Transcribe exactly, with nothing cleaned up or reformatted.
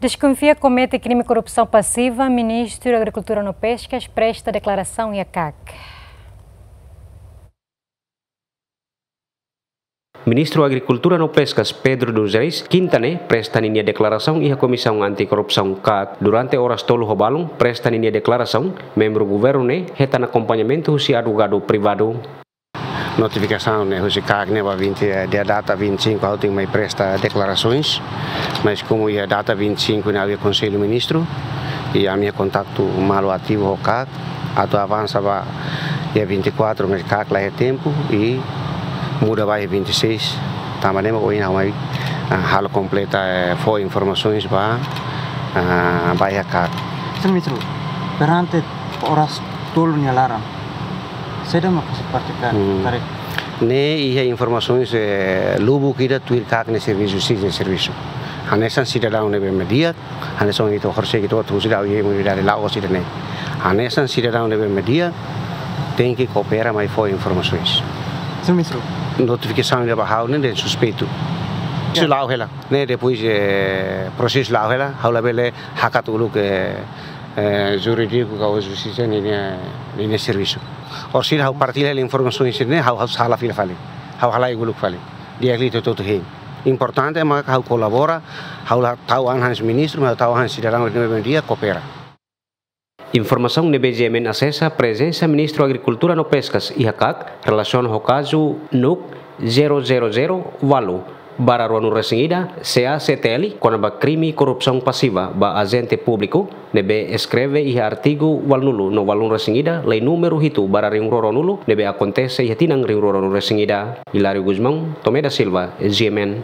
Deskonfia komete krime korrupsaun pasiva, Ministru Agrikultura no Peskas presta deklarasaun iha KAK. Ministru Agrikultura no Peskas, Pedro dos Reis, kinta ne'e presta ninia deklarasaun iha Komisaun Anti-Korrupsaun KAK. Durante oras tolu ho balun presta ninia deklarasaun, membru governu ne'e hetan akompañamentu husi advogadu privadu. Notifikasaun ne'e husi KAK ne'e ba vinte, eh, dia data vinte e cinco ha'u tenke mai presta deklarasoens. Mas komu iha data vinte e cinco ne'e ha'u iha Konsellu Ministru, i ami iha kontaktu malu ativu ho KAK atu avansa ba iha vinte e quatro, mas KAK la iha tempu i muda ba iha vinte e seis. Tanba ne'e mak ohin ha'u mai, ah, halo kompleta, eh, fó informasoens ba, ah, ba iha KAK. Señór Ministru, perante oras tolu nia laran, saida mak fase parte KAK? Hmm. Karik. Ne'e iha informasoens, eh, lubuk ida tuir KAK nia servisu, sira nia servisu. Hanesan sidadaun ne'ebé mak di'ak, hanesan ita horisehik ita hotu husi dau iha imunidade la'o sira ne'e. Hanesan sidadaun ne'ebé mak di'ak, tenke koopera mai fó informasoens. Señór Ministru. Notifikasaun ida ba ha'u ne'e dehan suspeitu. Ya. Prosesu la'o hela. Ne'e depois, eh, prosesu la'o hela, ha'u labele hakat uluk, eh, eh, jurídiku ka justisa ninia, ninia servisu. Orsida ha'u partilla hela informasaun sira-ne'e, ha'u, ha'u sala fila fali. Ha'u halai uluk fali. Di'ak liu ita hotu hein. Importante mak ha'u kolabora, ha'u la tau an hanesan ministru, mas ha'u tau an hanesan sidadaun ne'ebé mak di'ak, koopera. Informasaun ne'ebé GMN asesa, prezensa Ministru Agrikultura no Peskas iha KAK relasiona ho kazu NUC zero zero zero ualu barra ruanulu resin ida C A C T L, kona-ba krime korrupsaun pasiva ba ajente públiku, ne'ebé eskreve iha artigu ualunulu no ualunulu-resin-ida, lei númeru hitu barra rihun rua ruanulu, ne'ebé akontese iha tinan rihun rua ruanulu-resin-ida. Hilário Gusmão, Tomé da Silva, GMN.